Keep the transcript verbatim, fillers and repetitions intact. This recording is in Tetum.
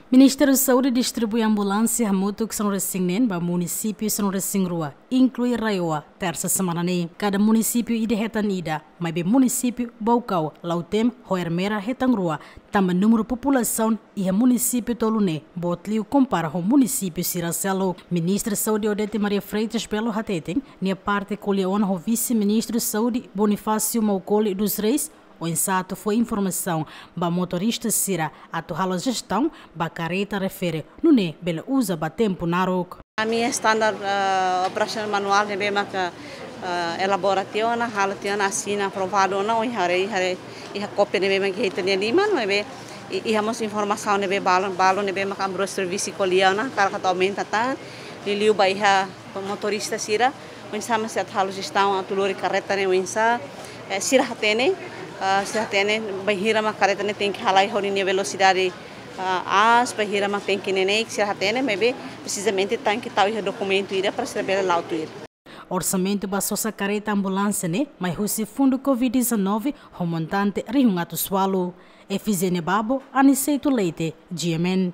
Ministériu Saúde distribui ambulánsia hamutuk sanulu-resin-neen ba munisípiu sanulu-resin-rua, inklui RAEOA, tersa semana ne'e. Kada munisípiu ida hetan ida, maibé munisípiu Baucau, Lautém ho Ermera hetan rua, tanba númeru populasaun iha munisípiu tolu ne'e boot liu kompara ho munisípiu sira seluk. Ministra Saúde Odete Maria Freitas Belo hateten, nia parte ko'alia ona ho Vise-Ministru Saúde Bonifácio Maukoli dos Reis, oinsá atu fó informasaun ba motorista sira atu halo jestaun ba karreta refere, nune'e bele uza ba tempu naruk. Ami standar, eh, operasionál manuál ne'ebé maka, eh, elabora tiha ona, halo tiha ona, asina aprovadu ona, ohin haree, haree iha kópia ne'ebé maka iha ita-nia liman, ne'ebé i-, iha mós informasaun ne'ebé balun, balun ne'ebé maka ami-rua servisu ko'alia ona, hakarak atu aumenta tan, liuliu ba iha motorista sira, oinsá mak sira atu halo jestaun atu lori karreta ne'e oinsá, eh, sira hatene, ah, sira hatene bainhira mak karreta ne'e tenke halai ho ninia velosidade, ah, aas, bainhira mak tenke neineik, sira hatene, maibé presizamente tenke tau iha dokumentu ida para sira bele la'o tuir. Orsamentu ba sosa karreta ambulánsia ne'e mai husi fundu covid dezanove ho montante rihun atus ualu. Efizénia Babo, Aniceto Leite, G M N.